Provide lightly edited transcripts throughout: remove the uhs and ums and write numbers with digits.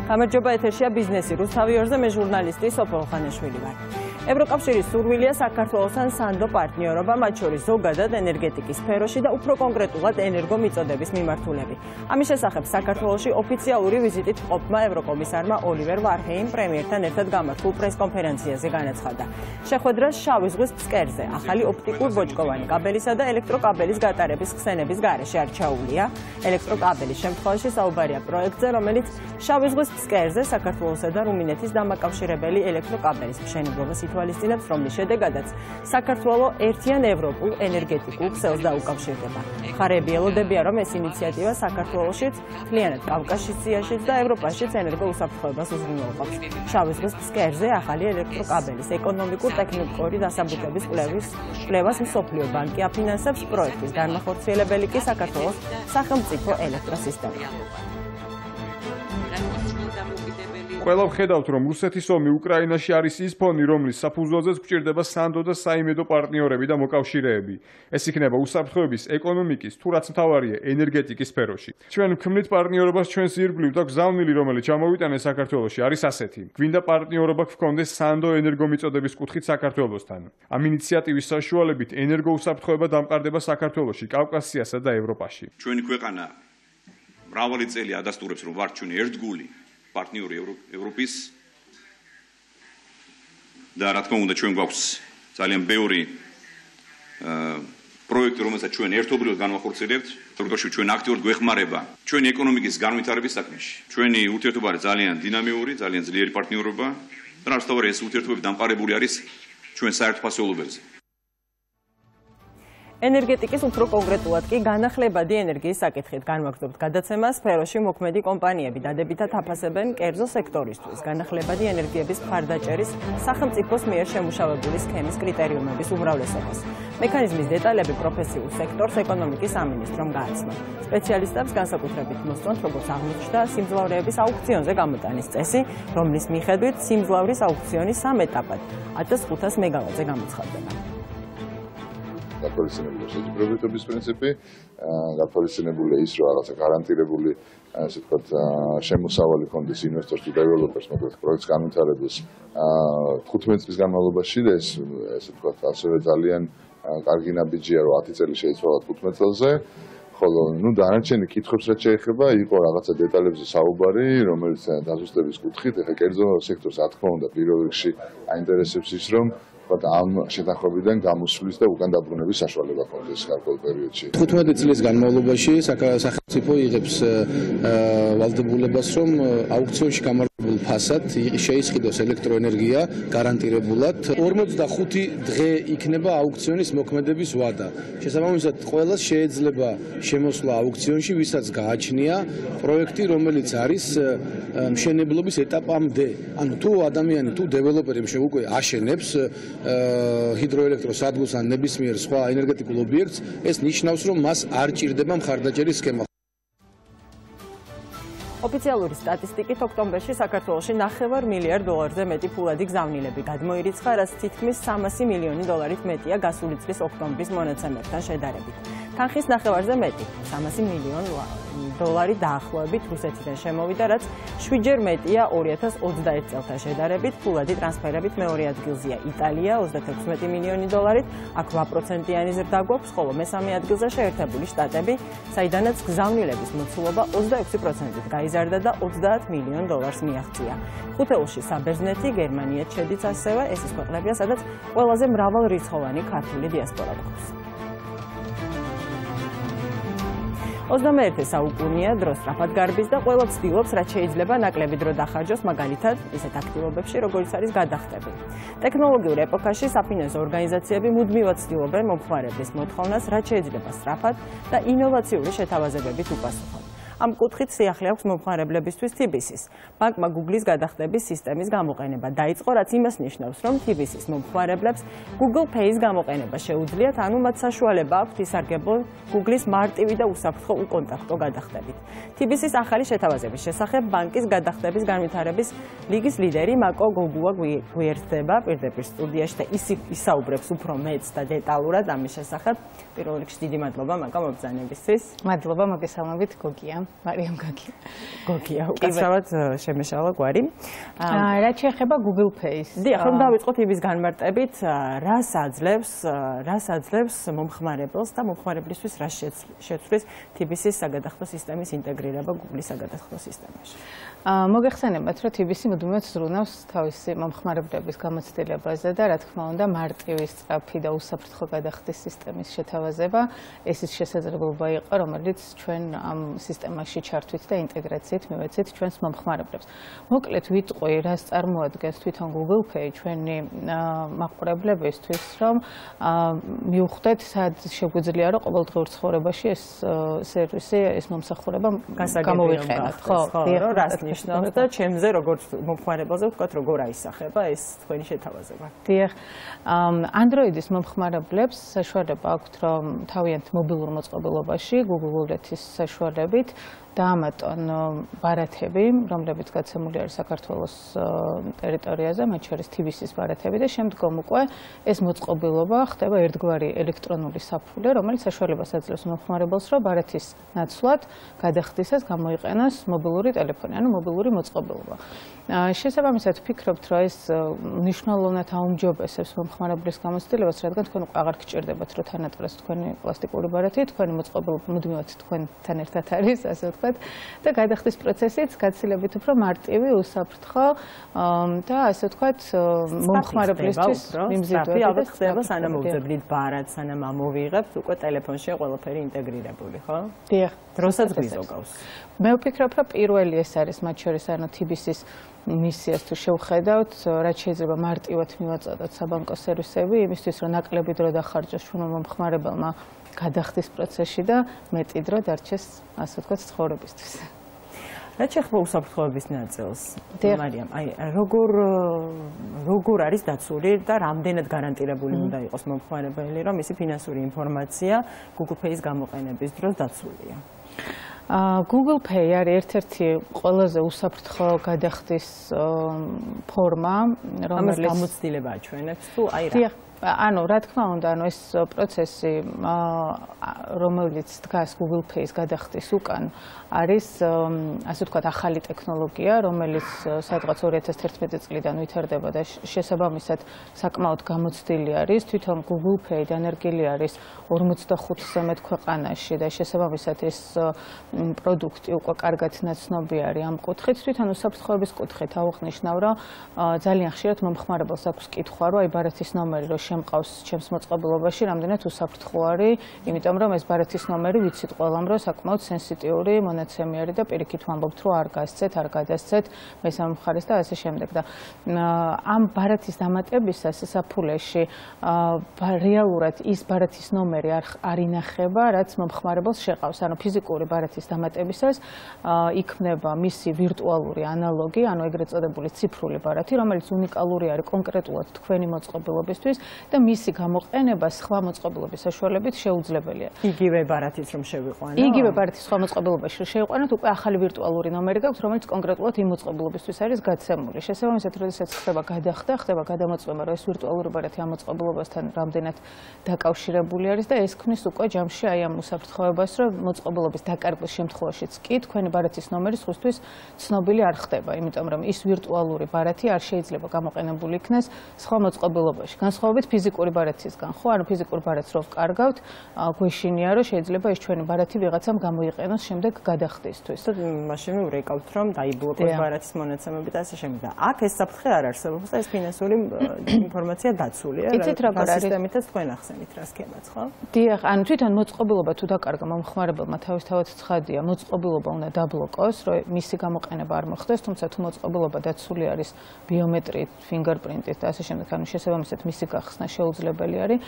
გამარჯობა, ეთერშია ბიზნესი რუსთავი ორზე, მე ჟურნალისტი სოფო ხანიშვილი ვარ. ევროკავშირის სურვილია საქართველოსთან სანდო პარტნიორობა, მათ შორის ზოგადად ენერგეტიკის სფეროში და უფრო კონკრეტულად ენერგომიწოდების მიმართულები. ამის შესახებ საქართველოში ოფიციალური ვიზიტით მყოფმა ევროკომისარმა ოლივერ ვარჰეიმ პრემიერთან ერთად გამართულ პრესკონფერენციაზე განაცხადა. შეხვედრას შავი ზღვის ფსკერზე, ახალი ოპტიკურ ბოჭკოვანი კაბელისა და ელექტროკაბელის გატარების ხსენების გარეშე არჩეულია. ელექტროკაბელის შემთხვევაში საუბარია პროექტზე, რომელიც შავი ზღვის ფსკერზე საქართველოსა და რუმინეთის დამაკავშირებელი ელექტროკაბელის მშენებლობას ითვალისწინებს, რომლის შედეგადაც საქართველო ერთიან ევროპულ ენერგეტიკულ ქსელს დაუკავშირდება. მხარეები ელოდებიან, რომ ეს ინიციატივა საქართველოშიც, მთლიანად კავკასიაშიც და ევროპაშიც ენერგოუსაფრთხოებას უზრუნველყოფს. შავი ზღვის ფსკერზე ახალი ელექტროკაბელის ეკონომიკურ-ტექნიკური დასაბუთების კვლევას მსოფლიო ბანკი აფინანსებს, პროექტის განმახორციელებელი კი საქართველოს სახელმწიფო ელექტროსისტემაა. ყველა ვხედავთ, რომ რუსეთის ომი უკრაინაში არის ის ფონი, რომლის საფუძველზეც გვჭირდება სანდო და საიმედო პარტნიორები და მოკავშირეები. ეს იქნება უსაფრთხოების, ეკონომიკის, თუ რაც მთავარია, ენერგეტიკის სფეროში. ჩვენ ვქმნით პარტნიორობას ჩვენს ირგვლივ და გზავნილი, რომელიც ჩამოვიტანეს საქართველოში, არის ასეთი. გვინდა პარტნიორობა გქონდეს სანდო ენერგომიწოდების კუთხით საქართველოსთან. ამ ინიციატივის საშუალებით ენერგოუსაფრთხოება დამყარდება საქართველოში, კავკასიასა და ევროპაში. ჩვენი ქვეყანა მრავალი წელი ადასტურებს, რომ ვართ ჩვენი ერთგული პარტნიორი ევროპის და რა თქმა უნდა ჩვენ გვაქვს ძალიან ბევრი პროექტი, რომელსაც ჩვენ ერთობლივად განვახორციელებთ, თორემ ჩვენ აქტიურად გვეხმარება ჩვენი ეკონომიკის განვითარების საქმეში. ჩვენი ურთიერთობა არის ძალიან დინამიური, ძალიან ძლიერი პარტნიორობა და რაც თავარი ეს ურთიერთობები დამყარებული არის ჩვენ საერთო ფასეულობებზე. ენერგეტიკის უფრო კონკრეტულად კი განახლებადი ენერგიის საკითხით განვაგრძობთ გადაცემას. სფეროში მოქმედი კომპანიები დადებითად აფასებენ კერძო სექტორისთვის განახლებადი ენერგიების მხარდაჭერის სახელმწიფოს მიერ შემუშავებული სქემის კრიტერიუმების უმრავლესობას. მექანიზმის დეტალები პროფესიულ სექტორს ეკონომიკის სამინისტრომ გააცნო. სპეციალისტებს განსაკუთრებით მოსწონთ, როგორც აღმოჩნდა, სიმძლავრეების აუქციონზე გამოტანის წესი, რომლის მიხედვით სიმძლავრის აუქციონი 3 ეტაპად 1500 მეგავატზე გამოცხადდება. გათვალისწინებული შეჯიბრებითობის პრინციპი, გათვალისწინებული ის, რომ რაღაცა გარანტირებული, ასე ვთქვათ, შემოსავალი კონდეს ინვესტორს თუ დეველოპერს, მოკლედ პროექტს განვითარებელს 15 წლის განმავლობაში და ესე ვთქვათ, ასევე ძალიან კარგი ნაბიჯია, რომ 10 წელი შეიცვალა 15 წელზე. ხოლო დანარჩენი კითხვებს რაც შეეხება, იყო რაღაცა დეტალებზე საუბარი, რომელიც დაზუსტების კუთხით, ეხლა კერძო სექტორს რა თქმა უნდა პირველ რიგში აინტერესებს ის, რომ ამ შეთანხმებიდან გამოსვლის და უკან დაბრუნების საშუალება ჰქონდეს გარკვეულ პერიოდში. 15 წლის განმავლობაში სახელმწიფო იღებს ვალდებულებას, რომ აუქციონში გამარჯვებულ ფასად შეისყიდოს ელექტროენერგია გარანტირებულად. 45 დღე იქნება აუქციონის მოქმედების ვადა. შესაბამისად, ყველას შეეძლება შემოსვლა აუქციონში, ვისაც გააჩნია პროექტი, რომელიც არის მშენებლობის ეტაპამდე. ანუ თუ ადამიანი, თუ დეველოპერი უკვე აშენებს ჰიდროელექტროსადგურს ან ნებისმიერ სხვა ენერგეტიკულ ობიექტს, ეს ნიშნავს, რომ მას არ ჭირდება მხარდაჭერის სქემა. ოფიციალური სტატისტიკით ოქტომბერში საქართველოში $9 მილიარდზე მეტი ფულადი გზავნილები გადმოირიცხა, რაც თითქმის $300 მილიონი მეტია გასული წლის ოქტომბრის მონაცემებთან შედარებით. თანხის $9-ზე მეტი, $300 მილიონი დაახლოებით რუსეთიდან შემოვიდა, რაც 7-ჯერ მეტია 2021 წელთან შედარებით. ფულადი ტრანსფერებით მეორე ადგილზეა იტალია $36 მილიონი, აქ 8%-იანი ზრდა გვაქვს, ხოლო მესამე ადგილზე შეერთებული შტატები, საიდანაც გზავნილების მოცულობა 26%-ით გაიზარდა და $30 მილიონ მიაღწია. ხუთეულში საბერძნეთი, გერმანიაც შედის ასევე, ეს ის ქვეყნებია, სადაც ყველაზე მრავალრიცხოვანი ქართული დიასპორა გვაქვს. 21 საუკუნეა დრო სწრაფად გარბის და ყველა ცდილობს, რაც შეიძლება ნაკლები დრო დახარჯოს, მაგალითად, ისეთ აქტივობებში, როგორც არის გადახდები. ტექნოლოგიურ ეპოქაში საფინანსო ორგანიზაციები მუდმივად ცდილობენ მომხმარებლის მოთხოვნას, რაც შეიძლება სწრაფად და ინოვაციური შეთავაზებებით უპასუხონ. ამ კუთხით სიახლე აქვს მომხმარებლებისთვის TBC-ს. ბანკმა Google-ის გადახდების სისტემის გამოყენება დაიწყო, რაც იმას ნიშნავს, რომ TBC-ის მომხმარებლებს Google Pay-ის გამოყენება შეუძლიათ, ანუ მათ საშუალება აქვთ ისარგებლონ Google-ის მარტივი და უსაფრთხო უკონტაქტო გადახდებით. TBC-ის ახალი შეთავაზების შესახებ ბანკის გადახდების განვითარების ლიგის ლიდერი მაკო გოგუა გვერდება პირდაპირ სტუდიაში და ისაუბრებს უფრო მეც და დეტალურად ამის შესახებ. პირველ რიგში დიდი მადლობა მაკო მობრძანებისთვის. მადლობა მოგესალმებით გოგია. მარიამ გაგი. გოგია, უკაცრავად შემეშალა გვარი. რაც შეეხება Google Pay-ს. დიახ, რომ დავიწყოთ იმის განმარტებით, რას აძლევს მომხმარებელს და მომხმარებლისთვის რას შეცვლის TBC-ის საგადახდო სისტემის ინტეგრირება Google-ის საგადახდო სისტემაში. მოგეხსენებათ, რომ TBC მუდმივად ზრუნავს თავისი მომხმარებლების გამოცდილებაზე და რა თქმა უნდა, მარტივი, სწრაფი და უსაფრთხო გადახდის სისტემის შეთავაზება ეს ის შესაძლებლობა იყო, რომელიც ჩვენ ამ სისტემაში ჩართვით და ინტეგრაციით მივეცეთ ჩვენს მომხმარებლებს. მოკლედ ვიტყვი, რას წარმოადგენს თვითონ Google Pay ჩვენი მაყურებლებისთვის, რომ მივხვდეთ, სად შეგვიძლია რომ ყოველდღიურ ცხოვრებაში ეს სერვისი, ეს მომსახურება გამოვიყენოთ, ხო? რას ნიშნავს და ჩემზე როგორც მომხმარებელზე ვთქვათ, როგორ აისახება ეს თქვენი შეთავაზება. დიახ. Android-ის მომხმარებლებს საშუალება აქვთ, რომ თავიანთ მობილურ მოწყობილობაში Google Wallet-ის საშუალებით დაამატონ ბარათები, რომლებიც გაცემული არის საქართველოს ტერიტორიაზე, მათ შორის TBC-ის ბარათები და შემდგომ უკვე ეს მოწყობილობა ხდება ერთგვარი ელექტრონული საფულე, რომელიც საშუალებას აძლევს მომხმარებელს, რომ ბარათის ნაცვლად გადახდისას გამოიყენოს მობილური ტელეფონი, ანუ მობილური მოწყობილობა. შესაბამისად ვფიქრობთ, რომ ეს მნიშვნელოვნად აუმჯობესებს მომხმარებლის გამოცდილებას, რადგან თქვენ უკვე აღარ გჭირდებათ, რომ თანატაროს თქვენი პლასტიკური ბარათი, თქვენი მოწყობილობა მუდმივად თქვენთან ერთად არის, ასე ვთქვათ, და გადახდის პროცესიც გაცილებით უფრო მარტივი, უსაფრთხო და ასე ვთქვათ, მომხმარებლისთვის მიმზიდველი ალბათ ხდება, სანამ მოვძებნით ბარათს, სანამ ამოვიღებთ, უკვე ტელეფონშია ყველაფერი ინტეგრირებული, ხო? დიახ, დროსაც გვიზოგავს. მე ვფიქრობ, რომ პირველი ეს არის მათ შორის, ანუ TBC-ის მისიას თუ შევხედავთ, რაც შეიძლება მარტივად მივაწოდოთ საბანკო სერვისები, იმისთვის, რომ ნაკლები დრო დახარჯოს ჩვენმა მომხმარებელმა გადახდის პროცესში და მეტი დრო დარჩეს, ასე ვთქვათ, ცხოვრებისთვის. რაც შეეხება უსაფრთხოების ნაწილს, მარიამ, აი როგორ არის დაცული და რამდენად გარანტირებული უნდა იყოს მომხმარებელი, რომ მისი ფინანსური ინფორმაცია Google Pay-ის გამოყენების დროს დაცულია? Google Pay არის ერთ-ერთი ყველაზე უსაფრთხო გადახდის ფორმა, რომელიც გამოცდილება აჩვენებს თუ აი რა? ანუ რა თქმა უნდა, ანუ ეს პროცესი, რომელიც დგას Google Pay-ის გადახდის უკან, არის ასე ვთქვათ, ახალი ტექნოლოგია, რომელიც სადღაც 2011 წლიდან ვითარდება და შესაბამისად საკმაოდ გამოცდილი არის. თვითონ Google Pay დანერგილი არის 45-ზე მეტ ქვეყანაში და შესაბამისად ეს პროდუქტი უკვე კარგად ნაცნობი არის ამ კუთხით. თვითონ უსაფრთხოების კუთხით აუღნიშნავ, რომ ძალიან ხშირად მომხმარებელს აქვს კითხვა, რომ აი ბარათის ნომერი რო შემყავს ჩემს მოწყობილობაში, რამდენად უსაფრთხო არის, იმიტომ რომ ეს ბარათის ნომერი ვიცით ყველამ, რომ საკმაოდ სენსიტიური მონაცემი არის და პირიქით ვამბობთ, რომ არ გასცეთ, არ გადასცეთ მესამე მხარეს და ასე შემდეგ. და ამ ბარათის დამატებისას საფულეში რეალურად ის ბარათის ნომერი არ ინახება, რაც მომხმარებელს შეყავს. ანუ ფიზიკური ბარათის დამატებისას იქმნება მისი ვირტუალური ანალოგი, ანუ ეგრეთ წოდებული ციფრული ბარათი, რომელიც უნიკალური არის კონკრეტულად თქვენი მოწყობილობისთვის და მისი გამოყენება სხვა მოწყობილობის საშუალებით შეუძლებელია. იგივე ბარათით რომ შევიყვანო? იგივე ბარათის სხვა მოწყობილობაში შევიყვანოთ, უკვე ახალი ვირტუალური ნომერი გაქვს, რომელიც კონკრეტულად იმ მოწყობილობისთვის არის გაცემული. შესაბამისად, როდესაც ხდება გადახდა, ხდება გადამოწმება, რომ ეს ვირტუალური ბარათი ამ მოწყობილობასთან რამდენად დაკავშირებული არის და ეს ქმნის უკვე ჯამში აი ამ უსაფრთხოებას, რომ მოწყობილობის დაკარგვის შემთხვევაშიც კი თქვენი ბარათის ნომერი სხვისთვის ცნობილი არ ხდება, იმიტომ რომ ის ვირტუალური ბარათი არ შეიძლება გამოყენებული იქნეს სხვა მოწყობილობაში. განსხვავებით ფიზიკური ბარათისგან, ხო? ანუ ფიზიკურ ბარათს რო ვკარგავთ, გვეშინია, რომ შეიძლება ეს ჩვენი ბარათი ვიღაცამ გამოიყენოს შემდეგ გადახდისთვის. მაშინ ვრეკავთ, რომ დაიბლოკოს ბარათის მონაცემები და ასე შემდეგ. და აქ ეს საფრთხე არ არსებობს და ეს ფინანსური ინფორმაცია დაცულია. იცით როგორ არის? სისტემითაც თქვენ ახსენით რა სქემაც, ხო? დიახ, ანუ თვითონ მოწყობილობა თუ დაკარგა მომხმარებელმა თავისთავად ცხადია, მოწყობილობა უნდა დაბლოკოს, რომ მისი გამოყენება არ მოხდეს, თუმცა თუ მოწყობილობა დაცული არის ბიომეტრიით, ფინგერპრინტით და ასე შემდეგ, ანუ შესაბამისად მისი გახსნა შეუძლებელი არის.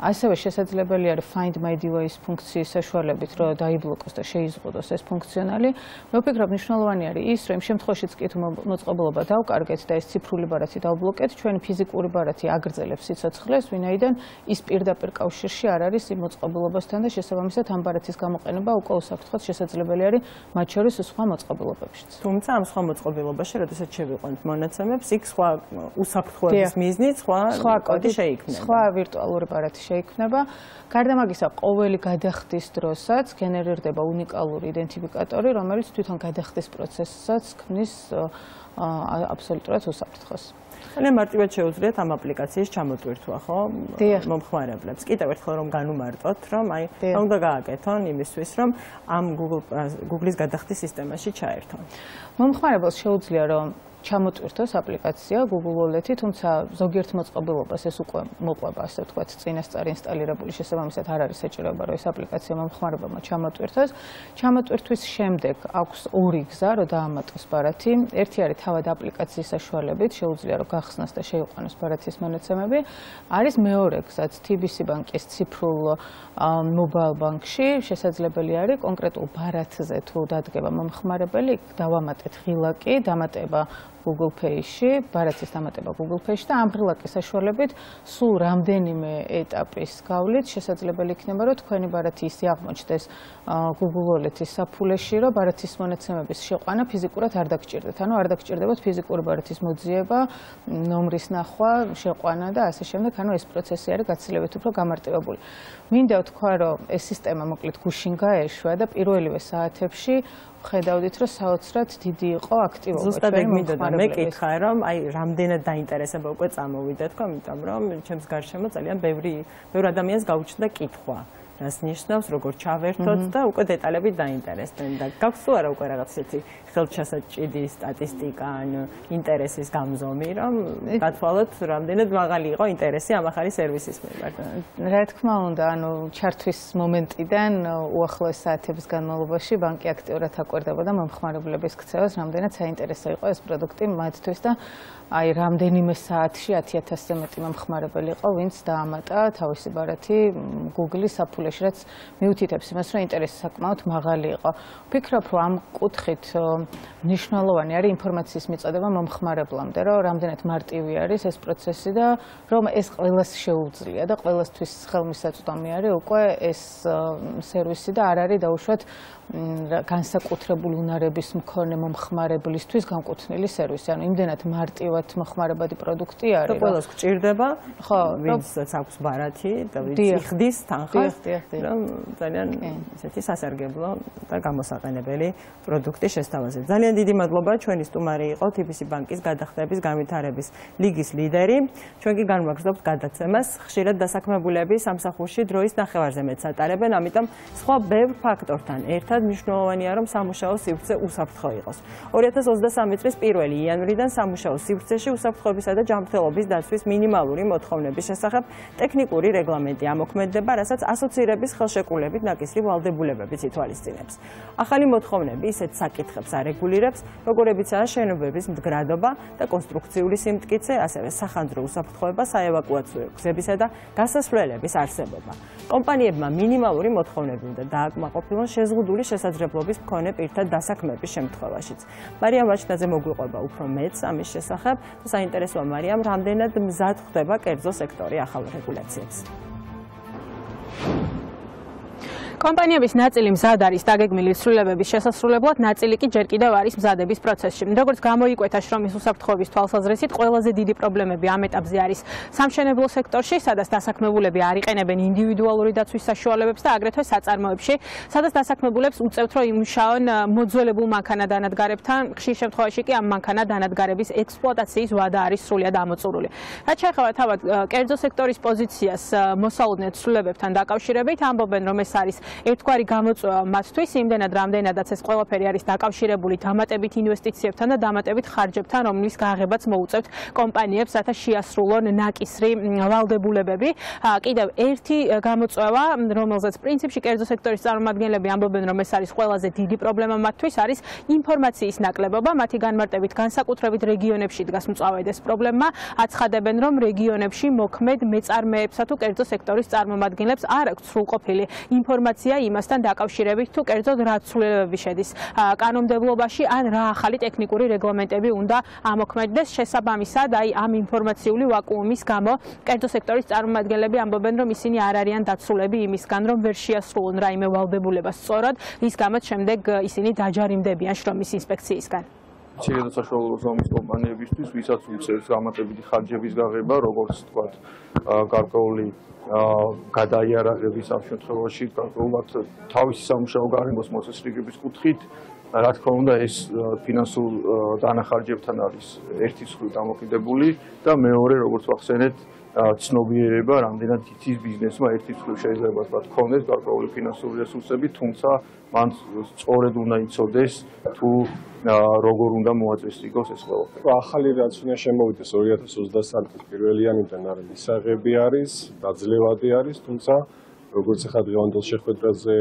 ასევე შესაძლებელი არის Find My Device ფუნქციის საშუალებით, რომ დაიბლოკოს და შეიზღუდოს ეს ფუნქციონალი. მე ვფიქრობ, მნიშვნელოვანი არის ის, რომ იმ შემთხვევაშიც კი თუ მოწყობილობა დავკარგეთ და ეს ციფრული ბარათი დავბლოკეთ, ჩვენი ფიზიკური ბარათი აგრძელებს სიცოცხლეს, ვინაიდან ის პირდაპირ კავშირში არ არის იმ მოწყობილობასთან და შესაბამისად ამ ბარათის გამოყენება უკვე უსაფრთხოდ შესაძლებელი არის მათ შორის სხვა მოწყობილობებშიც. თუმცა ამ სხვა მოწყობილობაში, როდესაც შევიყვანთ მონაცემებს, იქ სხვა უსაფრთხოების მიზნით სხვა კოდი შეიქმნება. შეიქმნება. სხვა ვირტუალური ბარათი შეიქმნება. გარდა ამისა, ყოველი გადახდის დროსაც გენერირდება უნიკალური იდენტიფიკატორი, რომელიც თვითონ გადახდის პროცესსაც ქმნის აბსოლუტურად უსაფრთხოს. ძალიან მარტივად შეუძლიათ ამ აპლიკაციის ჩამოტვირთვა, ხო? მომხმარებლებს. კიდევ ერთხელ რომ განუმარტოთ, რომ უნდა გააკეთონ იმისთვის, რომ ამ Google-ის გადახდის სისტემაში ჩაერთონ. მომხმარებელს შეუძლია რომ ჩამოტვირთოს აპლიკაცია Google Wallet-ი, თუმცა ზოგიერთ მოწყობილობას ეს უკვე მოყვება, ასე ვთქვათ, წინასწარ ინსტალირებული, შესაბამისად არ არის საჭიროება, რომ ეს აპლიკაცია მომხმარებელმა ჩამოტვირთოს. ჩამოტვირთვის შემდეგ აქვს ორი გზა, რომ დაამატოს ბარათი. ერთი არის თავად აპლიკაციის საშუალებით, შეუძლია რომ გახსნას და შეიყვანოს ბარათის მონაცემები. არის მეორე გზაც TBC ბანკის ციფრულ mobile ბანკში შესაძლებელი არის კონკრეტულ ბარათზე თუ დადგება მომხმარებელი, დავამატეთ ღილაკი, დამატება Google Pay-ში, ბარათის დამატება Google Pay-ში და ამ ღილაკის საშუალებით სულ რამდენიმე ეტაპის გავლით შესაძლებელი იქნება, რომ თქვენი ბარათი ისე აღმოჩნდეს Google Wallet-ის საფულეში, რომ ბარათის მონაცემების შეყვანა ფიზიკურად არ დაგჭირდეთ. ანუ არ დაგჭირდებათ ფიზიკური ბარათის მოძიება, ნომრის ნახვა, შეყვანა და ასე შემდეგ. ანუ ეს პროცესი არის გაცილებით უფრო გამარტივებული. მინდა ვთქვა, რომ ეს სისტემა მოკლედ გუშინ გაეშვა და პირველივე საათებში ხედავდით, რომ საოცრად დიდი იყო აქტივობა. ზუსტად ეგ მინდოდა მეკითხა, რომ აი რამდენად დაინტერესება უკვე წამოვიდა თქო, იმიტომ რომ ჩემს გარშემო ძალიან ბევრი ადამიანს გაუჩნდა კითხვა. რას ნიშნავს, როგორ ჩავერთოთ და უკვე დეტალებით დაინტერესდნენ და გაქვს თუ არა უკვე რაღაც ისეთი ხელჩასაჭიდი სტატისტიკა ან ინტერესის გამზომი, რომ გათვალოთ რამდენად მაღალი იყო ინტერესი ამ ახალი სერვისის მიმართ. რა თქმა უნდა, ანუ ჩართვის მომენტიდან უახლოეს საათების განმავლობაში ბანკი აქტიურად აკვირდებოდა მომხმარებლების ქცევას, რამდენად საინტერესო იყო ეს პროდუქტი მათთვის და აი რამდენიმე საათში 10,000-ზე მეტი მომხმარებელი იყო, ვინც დაამატა თავისი ბარათი Google-ის საფულეში, რაც მიუთითებს იმას, რომ ინტერესი საკმაოდ მაღალი იყო. ვფიქრობ, რომ ამ კუთხით მნიშვნელოვანი არის ინფორმაციის მიწოდება მომხმარებლამდე, რომ რამდენად მარტივი არის ეს პროცესი და რომ ეს ყველას შეუძლია და ყველასთვის ხელმისაწვდომი არის უკვე ეს სერვისი და არ არის დაუშვათ განსაკუთრებული უნარების მქონე მომხმარებლისთვის განკუთვნილი სერვისი. ანუ იმდენად მარტივად მოხმარებადი პროდუქტი არის. და ყველას გჭირდება, ხო, ვინცაც აქვს ბარათი და ვინც იხდის თანხას, რომ ძალიან ისეთი სასარგებლო და გამოსაყენებელი პროდუქტი შესთავაზებს. ძალიან დიდი მადლობა, ჩვენი სტუმარი იყო TBC ბანკის გადახდების განვითარების ლიგის ლიდერი. ჩვენ კი განვაგრძობთ გადაცემას. ხშირად დასაქმებულები სამსახურში დროის ნახევარზე მეტს ატარებენ, ამიტომ სხვა ბევრ ფაქტორთან ერთად მნიშვნელოვანია, რომ სამუშაო სივრცე უსაფრთხო იყოს. 2023 წლის 1 იანვრიდან სამუშაო სივრცეში უსაფრთხოებისა და ჯანმრთელობის დაცვის მინიმალური მოთხოვნების შესახებ ტექნიკური რეგლამენტი ამოქმედდება, რასაც ასოცირების ხელშეკრულებით ნაკისრი ვალდებულებებიც ითვალისწინებს. ახალი მოთხოვნები ისეთ საკითხებს არეგულირებს, როგორებიცაა შენობების მდგრადობა და კონსტრუქციული სიმტკიცე, ასევე სახანძრო უსაფრთხოება, საევაკუაციო გზებისა და გასასვლელების არსებობა. კომპანიებმა მინიმალური მოთხოვნები უნდა დააკმაყოფილონ შეზღუდული შესაძლებლობის მქონე პირთა დასაქმების შემთხვევაშიც. მარიამ ვაჩნაძე მოგვიყვება უფრო მეც ამის შესახებ და საინტერესოა მარიამ, რამდენად მზად ხდება კერძო სექტორი ახალ რეგულაციებს. კომპანიების ნაწილი მზად არის დაგეგმილი ცვლილებების შესასრულებლად, ნაწილი კი ჯერ კიდევ არის მზადების პროცესში. როგორც გამოიკვეთა შრომის უსაფრთხოების თვალსაზრისით, ყველაზე დიდი პრობლემები ამ ეტაპზე არის სამშენებლო სექტორში, sadაც დასაქმებულები არ იყენებენ ინდივიდუალური დაცვის საშუალებებს და აგრეთვე საწარმოებში, სადაც დასაქმებულებს უწევთ, რომ იმუშაონ მოძველებულ მანქანა-დანადგარებთან, ხშირ შემთხვევაში კი ამ მანქანა-დანადგარების ექსპლუატაციის ვადა არის სრულად ამოწურული. რაც შეეხება თავად კერძო სექტორის პოზიციას მოსალოდნელ ცვლილებებთან დაკავშირებით, ამბობენ, რომ ეს არის ერთგვარი გამოწვევა მათთვის, იმდენად რამდენადაც ეს ყველაფერი არის დაკავშირებული დამატებით ინვესტიციებთან და დამატებით ხარჯებთან, რომლის გაღებაც მოუწევთ კომპანიებს, რათა შეასრულონ ნაკისრი ვალდებულებები. კიდევ ერთი გამოწვევა, რომელზეც პრინციპში კერძო სექტორის წარმომადგენლები ამბობენ, რომ ეს არის ყველაზე დიდი პრობლემა მათთვის, არის ინფორმაციის ნაკლებობა. მათი განმარტებით განსაკუთრებით რეგიონებში დგას მწვავედ ეს პრობლემა. აცხადებენ, რომ რეგიონებში მოქმედ მეწარმეებსა თუ კერძო სექტორის წარმომადგენლებს არ აქვთ სრულყოფილი ინფორმაცია იმასთან დაკავშირებით, თუ კერძოდ რა ცვლილებები შედის კანონმდებლობაში, ან რა ახალი ტექნიკური რეგლამენტები უნდა ამოქმედდეს. შესაბამისად, აი ამ ინფორმაციული ვაკუუმის გამო კერძო სექტორის წარმომადგენლები ამბობენ, რომ ისინი არ არიან დაცულები იმისგან, რომ ვერ შეასრულონ რაიმე ვალდებულებას სწორად, რის გამოც შემდეგ ისინი დაჯარიმდებიან შრომის ინსპექციისგან. მცირე და საშუალო ზომის კომპანიებისთვის, ვისაც უწევს გამატებითი ხარჯების გაღება, როგორც თქვათ, გარკვეული გადაიარაღების ამ შემთხვევაში, გარკვეულად თავისი სამუშაო გარემოს მოწესრიგების კუთხით, რა თქმა უნდა, ეს ფინანსურ დანახარჯებთან არის ერთი მხრივ დამოკიდებული და მეორე, როგორც ვახსენეთ, ცნობიერება, რამდენად იცის ბიზნესმა ერთი მხრივ შეიძლება თქვენდეს გარკვეული ფინანსური რესურსები, თუმცა მან სწორედ უნდა იცოდეს თუ როგორ უნდა მოაწესრიგოს ეს ყველაფერი. ახალი რაც უნდა შემოვიდეს 2023 წლის პირველიანიდან არის მისაღები არის, დაძლევადი არის, თუმცა როგორც ახლა დღევანდელ შეხვედრაზე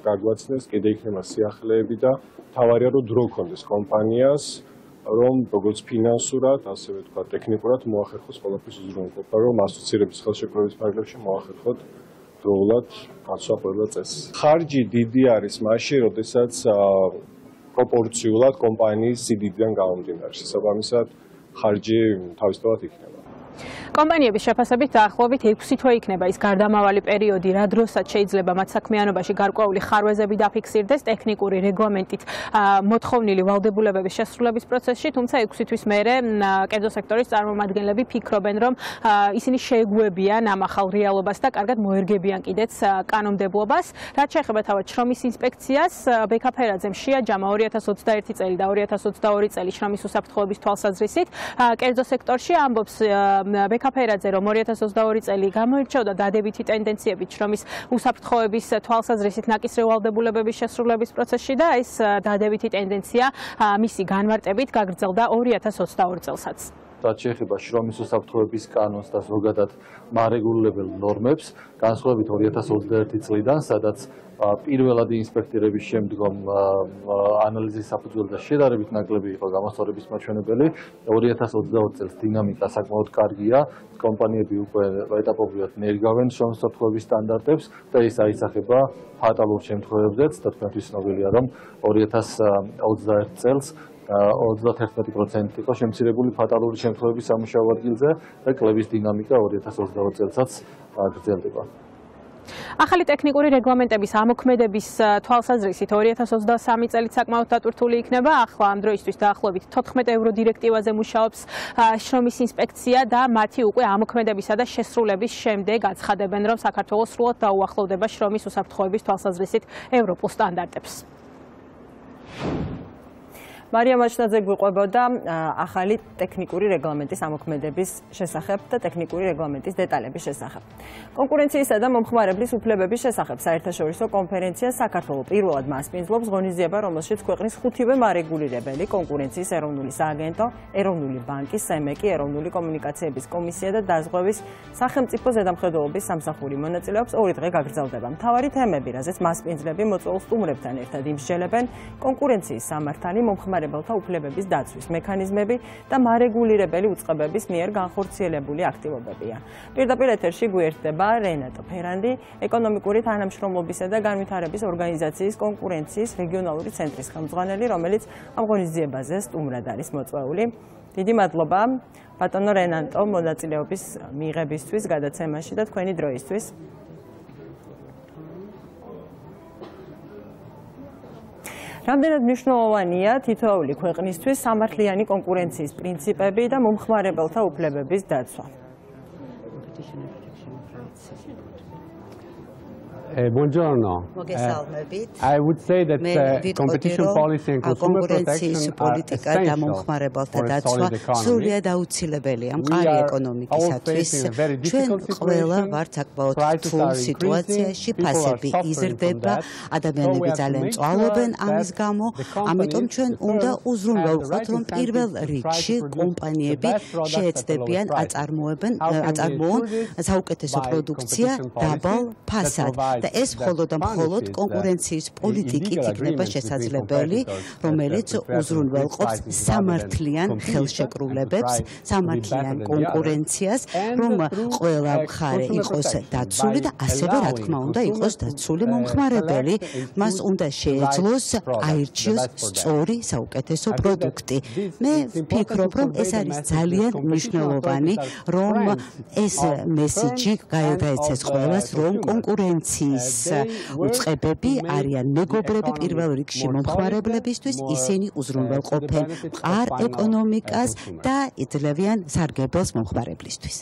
გაგვაცნეს, კიდე იქნება სიახლეები და თავარია რომ დრო ქონდეს კომპანიას რომ როგორც ფინანსურად, ასევე თქვა ტექნიკურად მოახერხოს ყველაფრის უზრუნველყოფა, რომ ასოცირების ხელშეკრულების ფარგლებში მოახერხოთ დროულად გაცვლა ყველა წესი. ხარჯი დიდი არის მაშინ, როდესაც პროპორციულად კომპანიის სიდიდიდან გამომდინარე. შესაბამისად, ხარჯი თავისთავად იქნება. კომპანიების შეფასებით დაახლოებით 6 თვე იქნება ის გარდამავალი პერიოდი, რა დროსაც შეიძლება მათ საქმიანობაში გარკვეული ხარვეზები დაფიქსირდეს ტექნიკური რეგლამენტით მოთხოვნილი ვალდებულებების შესრულების პროცესში, თუმცა 6 თვის მერე კერძო სექტორის წარმომადგენლები ფიქრობენ, რომ ისინი შეეგუებიან ამ ახალ რეალობას და კარგად მოერგებიან კიდეც კანონმდებლობას. რაც შეეხება თავად შრომის ინსპექციას, ბექა ფერაძემ შეაჯამა 2021 წელი და 2022 წელი შრომის უსაფრთხოების თვალსაზრისით. კერძო სექტორში ამბობს ბექა ფერაძე, რომ 2022 წელი გამოირჩეოდა დადებითი ტენდენციებით შრომის უსაფრთხოების თვალსაზრისით ნაკისრი ვალდებულებების შესრულების პროცესში და ეს დადებითი ტენდენცია მისი განმარტებით გაგრძელდა 2022 წელსაც. რაც შეეხება შრომის უსაფრთხოების კანონს და ზოგადად მარეგულირებელ ნორმებს, განსხვავებით 2021 წლიდან, სადაც პირველადი ინსპექტირების შემდგომ ანალიზის საფუძველზე და შედარებით ნაკლები იყო გამოსწორების მაჩვენებელი, 2022 წელს დინამიკა საკმაოდ კარგია, კომპანიები უკვე ეტაპობრივად ნერგავენ შრომის უსაფრთხოების სტანდარტებს და ეს აისახება ფატალურ შემთხვევებზეც და თქვენთვის ცნობილია, რომ 2021 წელს 31% იყო შემცირებული ფატალური შემთხვევების სამუშაო ადგილზე და კლების დინამიკა 2022 წელსაც გრძელდება. ახალი ტექნიკური რეგლამენტების ამოქმედების თვალსაზრისით 2023 წელით საკმაოდ დატვირთული იქნება. ახლა ამ დროისთვის დაახლოებით 14 евро დირექტივაზე მუშაობს შრომის ინსპექცია და მათი უკვე ამოქმედებისა და შესრულების შემდეგ აცხადებენ, რომ საქართველოს სრულად დაუახლოვდება შრომის უსაფრთხოების თვალსაზრისით ევროპულ სტანდარტებს. მარია მაჩნაძე გვიყვებოდა ახალი ტექნიკური რეგლამენტის ამოქმედების შესახებ და ტექნიკური რეგლამენტის დეტალების შესახებ. კონკურენციისა და მომხმარებლის უფლებების შესახებ საერთაშორისო კონფერენცია საქართველოს პირველად მასპინძლობს ღონისძიება, რომელშიც ქვეყნის 5-ვე მარეგულირებელი, კონკურენციის ეროვნული სააგენტო, ეროვნული ბანკი, სემეკი, ეროვნული კომუნიკაციების კომისია და დაზღვევის სახელმწიფო ზედამხედველობის სამსახური მონაწილეობს. 2 დღე გაგრძელდება. მთავარი თემები, რაზეც მასპინძლები მოწვეულ სტუმრებთან ერთად იმსჯელებენ, კონკურენციის სამართალი, მომხმარებელთა უფლებების დაცვის მექანიზმები და მარეგულირებელი უწყებების მიერ განხორციელებული აქტივობებია. პირდაპირ ეთერში გვერდება რენატო ფერანდი, ეკონომიკური თანამშრომლობისა და განვითარების ორგანიზაციის კონკურენციის რეგიონალური ცენტრის ხელმძღვანელი, რომელიც ამ ღონისძიებაზე სტუმრად არის მოწვეული. დიდი მადლობა ბატონო რენატო მონაწილეობის მიღებისთვის გადაცემაში და თქვენი დროისთვის. რამდენად მნიშვნელოვანია თითოეული ქვეყნისთვის სამართლიანი კონკურენციის პრინციპები და მომხმარებელთა უფლებების დაცვა. Buongiorno. I would say that competition policy and consumer protection are essential for a solid economy. სრულიად აუცილებელია მყარი ეკონომიკისათვის. ჩვენ ყველა ვართ საკმაოდ რთულ სიტუაციაში, ფასები იზრდება, ადამიანები ძალიან წვალობენ ამის გამო, ამიტომ ჩვენ უნდა უზრუნველყოთ, რომ პირველ რიგში კომპანიები შეეცდებიან აწარმოონ საუკეთესო პროდუქცია დაბალ ფასად. და ეს მხოლოდ და მხოლოდ კონკურენციის პოლიტიკით იქნება შესაძლებელი, რომელიც უზრუნველყოფს სამართლიან ხელშეკრულებებს, სამართლიან კონკურენციას, რომ ყველა მხარე იყოს დაცული და ასევე რა თქმა უნდა იყოს დაცული მომხმარებელი, მას უნდა შეეძლოს აირჩიოს სწორი საუკეთესო პროდუქტი. მე ვფიქრობ, რომ ეს არის ძალიან მნიშვნელოვანი, რომ ეს მესიჯი გაეცეს ყველას, რომ კონკურენცია კონკურენციის უწყებები არიან მეგობრები პირველ რიგში მომხმარებლებისთვის, ისინი უზრუნველყოფენ მყარ ეკონომიკას და იძლევიან სარგებელს მომხმარებლისთვის.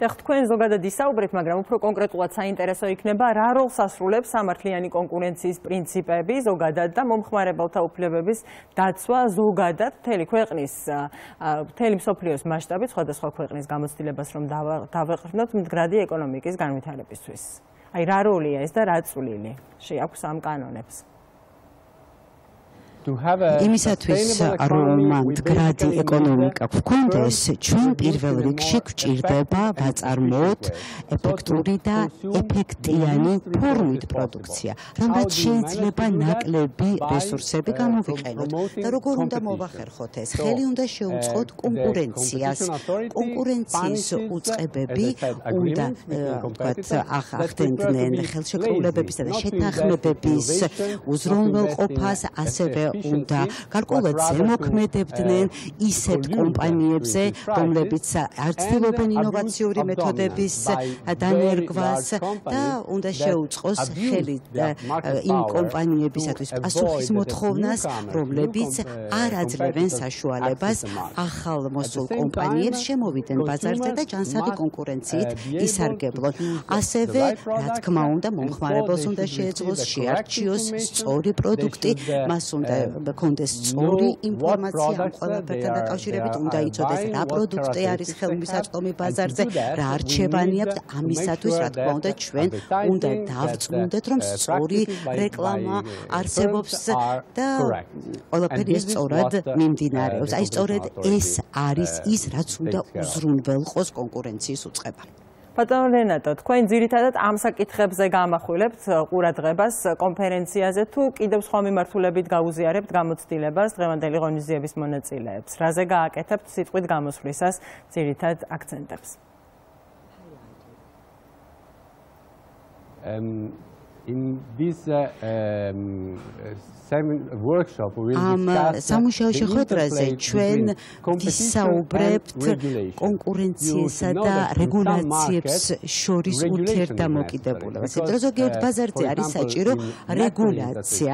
თქვენ ზოგადად ისაუბრეთ, მაგრამ უფრო კონკრეტულად საინტერესო იქნება, რა როლს ასრულებს სამართლიანი კონკურენციის პრინციპები ზოგადად და მომხმარებელთა უფლებების დაცვა ზოგადად მთელი ქვეყნის, მთელი მსოფლიოს მასშტაბით, სხვადასხვა ქვეყნის გამოცდილებას რომ დავეყრდნოთ მდგრადი ეკონომიკის განვითარებისთვის. აი რა როლია ეს და რა წვლილი შეაქვს ამ კანონებს? იმისათვის რომ მდგრადი ეკონომიკა გვქონდეს, ჩვენ პირველ რიგში გვჭირდება ვაწარმოოთ ეფექტური და ეფექტიანი ფორმით პროდუქცია, რომლაც შეიძლება ნაკლები რესურსები გამოვიყენოთ და როგორ უნდა მოვახერხოთ ეს? ხელი უნდა შეუწყოთ კონკურენციას. კონკურენციის უწყებები უნდა ახდენდნენ ხელშეკრულებებისა და შეთანხმებების უზრუნველყოფას, ასევე უნდა გარკვეულად ზემოქმედებდნენ ისეთ კომპანიებზე, რომლებიც არ ცდილობენ ინოვაციური მეთოდების დანერგვას და უნდა შეუწყოს ხელი იმ კომპანიებისათვის პასუხის მოთხოვნას, რომლებიც არ აძლევენ საშუალებას ახალ მოსულ კომპანიებს შემოვიდნენ ბაზარზე და ჯანსაღი კონკურენციით ისარგებლონ. ასევე, რა თქმა უნდა, მომხმარებელს უნდა შეეძლოს შეარჩიოს სწორი პროდუქტი, მას უნდა გქონდეს სწორი ინფორმაცია ამ ყველაფერთან დაკავშირებით, უნდა იცოდეს რა პროდუქტი არის ხელმისაწვდომი ბაზარზე, რა არჩევანი აქვს და ამისათვის, რა თქმა უნდა, ჩვენ უნდა დავწმუნდეთ, რომ სწორი რეკლამა არსებობს და ყველაფერი ეს სწორად მიმდინარეობს. აი სწორედ ეს არის ის, რაც უნდა უზრუნველყოს კონკურენციის უწყება. ბატონო რენატო, თქვენ ძირითადად ამ საკითხებზე გამახვილებთ ყურადღებას კონფერენციაზე თუ კიდევ სხვა მიმართულებით გაუზიარებთ გამოცდილებას დღევანდელი ღონისძიების მონაწილეებს? რაზე გააკეთებთ სიტყვით გამოსვლისას ძირითად აქცენტებს? ამ სამუშაო შეხვედრაზე ჩვენ ვისაუბრებთ კონკურენციისა და რეგულაციებს შორის ურთიერთდამოკიდებულებას. ზოგიერთ ბაზარზე არის საჭირო რეგულაცია,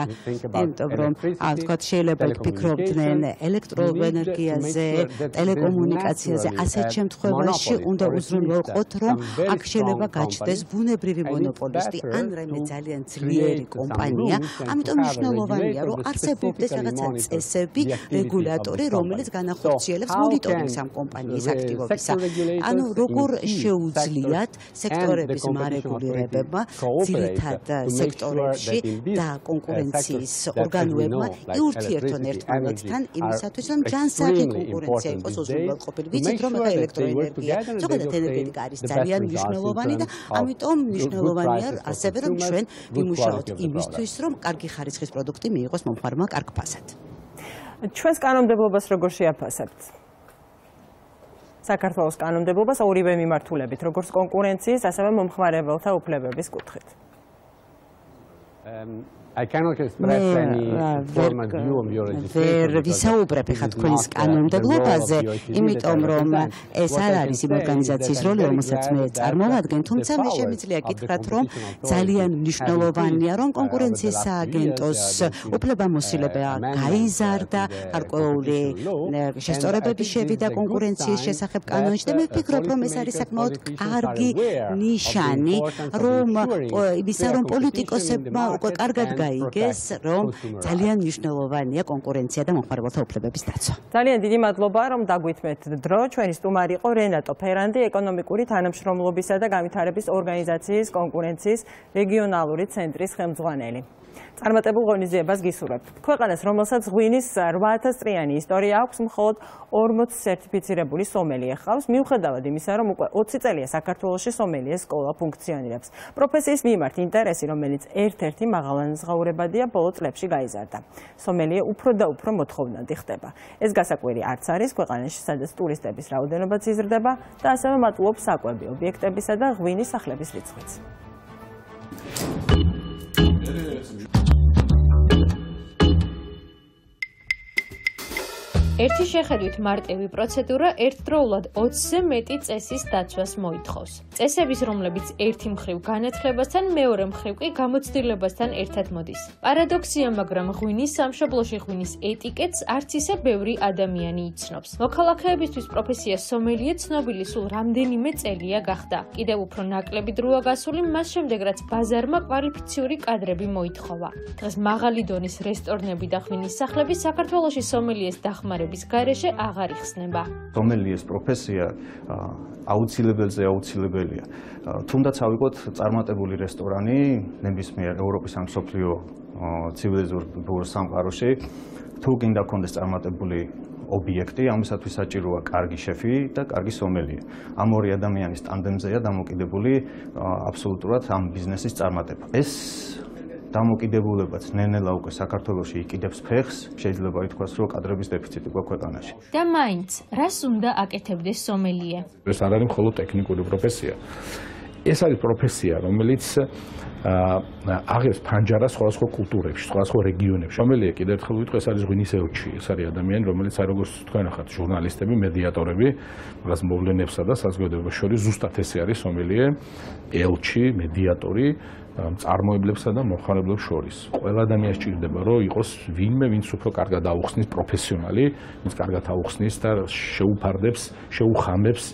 იმიტომ რომ თქვათ შეიძლება ფიქრობდნენ ელექტროენერგიაზე, ტელეკომუნიკაციაზე, ასეთ შემთხვევაში უნდა უზრუნველყოთ, რომ აქ შეიძლება გაჩნდეს ბუნებრივი მონოპოლისტი ან რაიმე ძალიან ძლიერი კომპანია, ამიტომ მნიშვნელოვანია რომ არსებობდეს რაღაცა წესები, რეგულატორი, რომელიც განახორციელებს მონიტორინგს ამ კომპანიის აქტივობისა. ანუ როგორ შეუძლიათ სექტორების მარეგულირებებმა ძირითად სექტორებში და კონკურენციის ორგანოებმა იურთიერთონ ერთმანეთთან იმისათვის, რომ ჯანსაღი კონკურენცია იყოს უზრუნველყოფილი. ვიცით, რომ ელექტროენერგია, ზოგადად ენერგეტიკა არის ძალიან მნიშვნელოვანი და ამიტომ მნიშვნელოვანია ასევე რომ ჩვენ ვიმუშაოთ იმისთვის, რომ კარგი ხარისხის პროდუქტი მიიღოს მომხმარებელმა კარგ ფასად. ჩვენს კანონმდებლობას როგორ შეაფასებთ? საქართველოს კანონმდებლობას ორივე მიმართულებით, როგორც კონკურენციის, ასევე მომხმარებელთა უფლებების კუთხით. ვერ ვისაუბრებ ხა თქვენს კანონმდებლობაზე, იმიტომ რომ ეს არ არის იმ ორგანიზაციის როლი, რომელსაც მე წარმოვადგენ, თუმცა მე შემიძლია გითხრათ, რომ ძალიან მნიშვნელოვანია, რომ კონკურენციის სააგენტოს უფლებამოსილება გაიზარდა, გარკვეული შესწორებები შევიდა კონკურენციის შესახებ კანონში და მე ვფიქრობ, რომ ეს არის საკმაოდ კარგი ნიშანი, რომ ისა რომ პოლიტიკოსებმა უკვე კარგად გაიგეს, რომ ძალიან მნიშვნელოვანია კონკურენცია და მომხმარებელთა უფლებების დაცვა. ძალიან დიდი მადლობა, რომ დაგვითმეთ დრო. ჩვენი სტუმარი იყო რენატო ფერანდი, ეკონომიკური თანამშრომლობისა და განვითარების ორგანიზაციის კონკურენციის რეგიონალური ცენტრის ხელმძღვანელი. წარმატებულ ღონისძიებას გისურვებთ. ქვეყანას, რომელსაც ღვინის 8000 წლიანი ისტორია აქვს, მხოლოდ 40 სერტიფიცირებული სომელიე ჰყავს, მიუხედავად იმისა, რომ უკვე 20 წელია საქართველოში სომელიეს სკოლა ფუნქციონირებს. პროფესიის მიმართ ინტერესი, რომელიც ერთ-ერთი მაღალანაზღაურებადია, ბოლო წლებში გაიზარდა. სომელიე უფრო და უფრო მოთხოვნადი ხდება. ეს გასაკვირი არც არის ქვეყანაში, სადაც ტურისტების რაოდენობაც იზრდება და ასევე მატულობს საკვები ობიექტებისა და ღვინის სახლების რიცხვიც. ერთი შეხედვით მარტივი პროცედურა ერთდროულად 20-ზე მეტი წესის დაცვას მოითხოვს. წესების, რომლებიც ერთი მხრივ განათლებასთან, მეორე მხრივ კი გამოცდილებასთან ერთად მოდის. პარადოქსია, მაგრამ ღვინის სამშობლოში ღვინის ეტიკეტს არც ისე ბევრი ადამიანი იცნობს. მოქალაქეებისთვის პროფესია სომელიე ცნობილი სულ რამდენიმე წელია გახდა. კიდევ უფრო ნაკლები დროა გასული მას შემდეგ, რაც ბაზარმა კვალიფიციური კადრები მოითხოვა. დღეს მაღალი დონის რესტორნები და ღვინის სახლები საქართველოში სომელიეს დახმარების გარეშე აღარ იხსნება. სომელიეს პროფესია აუცილებელია. თუნდაც ავიღოთ წარმატებული რესტორანი ნებისმიერ ევროპის ან მსოფლიო ცივილიზებულ სამყაროში, თუ გინდა გქონდეს წარმატებული ობიექტი, ამისათვის საჭიროა კარგი შეფი და კარგი სომელია. ამ ორი ადამიანის ტანდემზეა დამოკიდებული აბსოლუტურად ამ ბიზნესის წარმატება. ეს დამოკიდებულებაც ნელ-ნელა უკვე საქართველოში იკიდებს ფეხს, შეიძლება ითქვას, რომ კადრების დეფიციტი გვაქვს ქვეყანაში. და მაინც, რას უნდა აკეთებდეს სომელიე? ეს არ არის მხოლოდ ტექნიკური პროფესია. ეს არის პროფესია, რომელიც აღებს ფანჯარას სხვადასხვა კულტურებში, სხვადასხვა რეგიონებში. სომელიე კიდევ ერთხელ ვიტყვი, ეს არის ღვინის ელჩი. ეს არის ადამიანი, რომელიც აი როგორც თქვენ ახლა ჟურნალისტები, მედიატორები, რაღაც მოვლენებსა და საზოგადოებას შორის ზუსტად ესე არის სომელიე ელჩი, მედიატორი წარმოებლებსა და მომხმარებლებს შორის. ყველა ადამიანს სჭირდება, რომ იყოს ვინმე, ვინც უფრო კარგად აუხსნის პროფესიონალი, ვინც კარგად აუხსნის და შეუფარდებს, შეუხამებს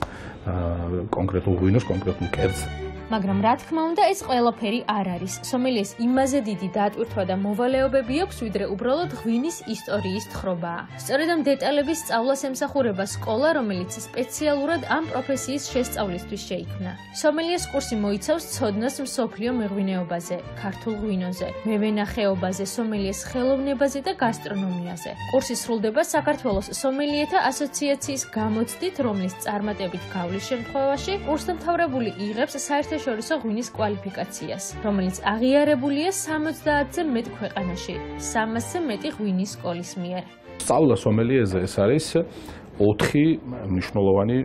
კონკრეტულ ღვინოს, კონკრეტულ კერძს. მაგრამ რა თქმა უნდა, ეს ყველაფერი არ არის. სომელიეს იმაზე დიდი დატვირთვა და მოვალეობები აქვს, ვიდრე უბრალოდ ღვინის ისტორიის თხრობაა. სწორედ ამ დეტალების სწავლას ემსახურება სკოლა, რომელიც სპეციალურად ამ პროფესიის შესწავლისთვის შეიქმნა. სომელიეს კურსი მოიცავს ცოდნას მსოფლიო მეღვინეობაზე, ქართულ ღვინოზე, მევენახეობაზე, სომელიეს ხელოვნებაზე და გასტრონომიაზე. კურსი სრულდება საქართველოს სომელიეთა ასოციაციის გამოცდით, რომლის წარმატებით გავლის შემთხვევაში კურსდამთავრებული იღებს საერთაშორისო ღვინის კვალიფიკაციას, რომელიც აღიარებულია 70-ზე მეტ ქვეყანაში, 300-ზე მეტი ღვინის სკოლის მიერ. სწავლა სომელიეზე ეს არის 4 მნიშვნელოვანი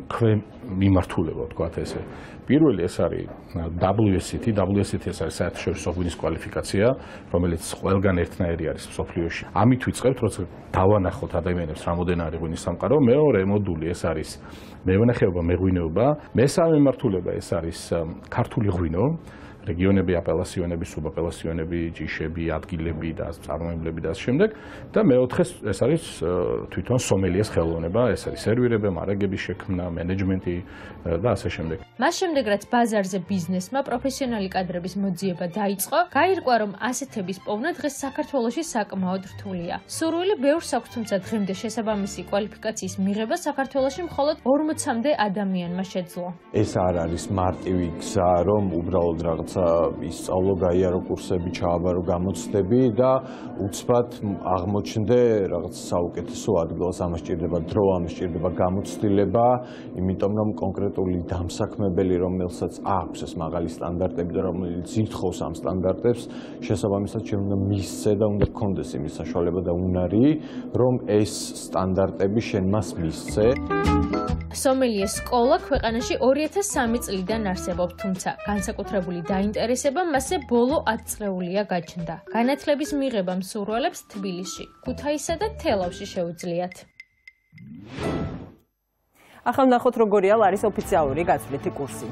მიმართულება, ვთქვათ ესე. პირველი ეს არის WSET ეს არის საერთაშორისო ღვინის კვალიფიკაცია, რომელიც ყველგან ერთნაირი არის მსოფლიოში. ამით ვიწყებთ, როცა დავანახოთ ადამიანებს რამოდენ არის ღვინის სამყარო. მეორე მოდული ეს არის მევენახეობა, მეღვინეობა. მესამე მიმართულება ეს არის ქართული ღვინო, რეგიონები, აპელასიონები, სუბაპელასიონები, ჯიშები, ადგილები და წარმოებლები და ამ შემდეგ. და მეოთხე ეს არის თვითონ სომელიეს ხელოვნება, ეს არის სერვირება, მარაგების შექმნა, მენეჯმენტი და ასე შემდეგ. მას შემდეგ, რაც ბაზარზე ბიზნესმა პროფესიონალი კადრების მოძიება დაიწყო, გაირკვა, რომ ასეთების პოვნა დღეს საქართველოში საკმაოდ რთულია. სურვილი ბევრს აქვს, თუმცა დღემდე შესაბამისი კვალიფიკაციის მიღება საქართველოში მხოლოდ 40-მდე ადამიანმა შეძლო. ეს არ არის მარტივი გზა, რომ უბრალოდ რაღაც ისწავლო, გაიარო კურსები, ჩააბარო გამოცდები და უცბად აღმოჩნდე რაღაც საუკეთესო ადგილას. ამას სჭირდება დრო, ამას სჭირდება გამოცდილება, იმიტომ რომ კონკრეტული დამსაქმებელი, რომელსაც აქვს ეს მაღალი სტანდარტები და რომელიც ითხოვს ამ სტანდარტებს, შესაბამისად უნდა მისცე და უნდა გქონდეს იმის საშუალება და უნარი, რომ ეს სტანდარტები შენ მას მისცე. სომელიეს სკოლა ქვეყანაში 2003 წლიდან არსებობს, თუმცა განსაკუთრებული დაინტერესება მასზე ბოლო 10 წლეულია გაჩნდა. განათლების მიღება მსურველებს თბილისში, ქუთაისსა და თელავში შეუძლიათ. ახლა ნახოთ როგორია ლარის ოფიციალური გაცვლითი კურსი.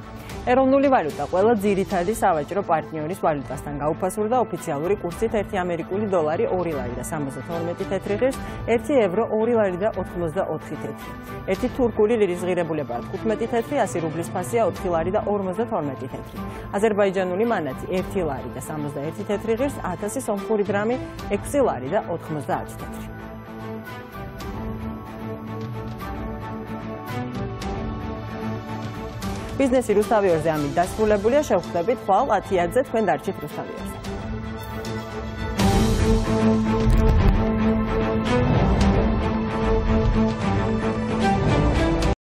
ეროვნული ვალუტა ყველა ძირითადი სავაჭრო პარტნიორის ვალუტასთან გაუფასურდა ოფიციალური კურსით 1 ამერიკული დოლარი 2 ლარი და 72 თეთრი ღირს, 1 ევრო 2 ლარი და 84 თეთრი. 1 თურქული ლირის ღირებულებაა 15 თეთრი, 100 რუბლის ფასია 4 ლარი და 52 თეთრი. აზერბაიჯანული მანათი 1 ლარი და 61 თეთრი ღირს, 1000 სომხური დრამი 6 ლარი და 90 თეთრი. ბიზნესი რუსთავიორზე ამით დასრულებულია. შევხვდებით ხვალ 10-ზე თქვენ დარჩით რუსთავიორზე.